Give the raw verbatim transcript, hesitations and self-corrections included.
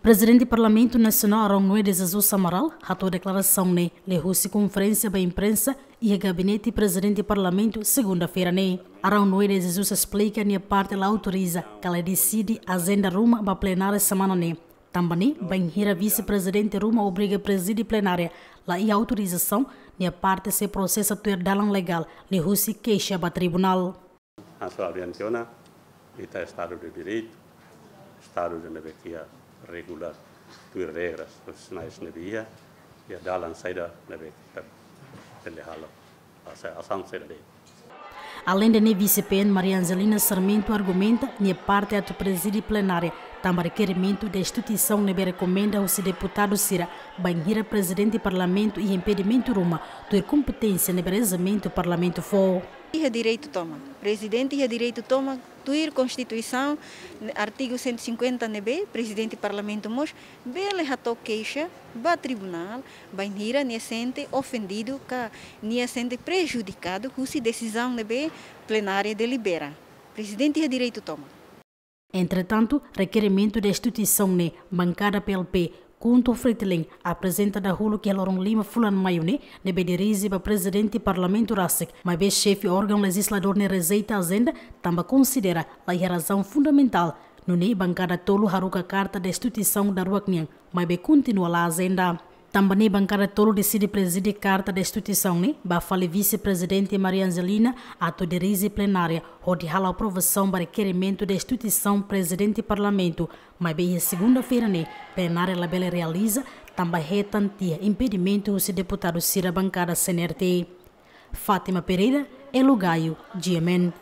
Prezidente Parlamentu Nasionál Araun Noé de Jesus Amaral hato'o deklarasaun ne'e liuhusi konferénsia ba imprensa iha gabinete Prezidente Parlamentu segunda-feira ne'e. Araun Noé de Jesus esplika nia parte la autoriza ka la deside ajenda ruma ba plenária semana ne'e. Tanba ne'e, bainhira vise-prezidente ruma obriga prezide plenária la iha autorizasaun, nia parte sei prosesa tuir dalan legál liuhusi keixa ba tribunál. Hanesan ha'u dehan tiha ona, ita Estadu de Direitu, Estadu ida ne'ebé ke regula tuir regras, sinais ne'ebé iha, iha dalan saida ne'ebé ke ita bele halo, asa-, asaun saida de'it. Aleinde ne'e, vise-P N Maria Angelina Sarmento argumenta nia parte atu prezide plenária tanba rekerimentu destituisaun ne'ebé rekomenda husi deputadu sira bainhira prezidente parlamentu iha impedimentu ruma tuir kompeténsia ne'ebé rejeimentu parlamentu fó. Iha direitu tomak. Prezidente iha direitu tomak tuir Konstituisaun, artigu cento e cinquenta ne'ebé, prezidente parlamentu mós bele hato'o keixa ba tribunál, bainhira nia sente ofendidu ka nia sente prejudikadu husi desizaun ne'ebé plenária delibera. Prezidente iha direitu tomak. Entretantu, rekerimentu destituisaun ne'e bankada P L P KHUNTO FRETILIN aprezenta dahuluk iha loron lima fulan Maiu ne'e, ne'ebé dirije ba prezidente parlamentu rasik, maibé xefe órgaun lejizladór ne'e rejeita ajenda, tanba konsidera la iha razaun fundamentál. Nune'e bankada tolu haruka karta destituisaun daruak nian, maibé kontinua la ajenda. Tanba ne'e bankada tolu deside prezide karta destituisaun ne'e ba fali vise-prezidente Maria Angelina atu dirije plenária hodi halo aprovasaun ba rekerimentu destituisaun prezidente parlamentu, maibé iha segunda-feira ne'e plenária labele realiza tanba hetan tiha impedimentu husi deputadu sira bankada C N R T. Fátima Pereira, Elo Gaio, G M N.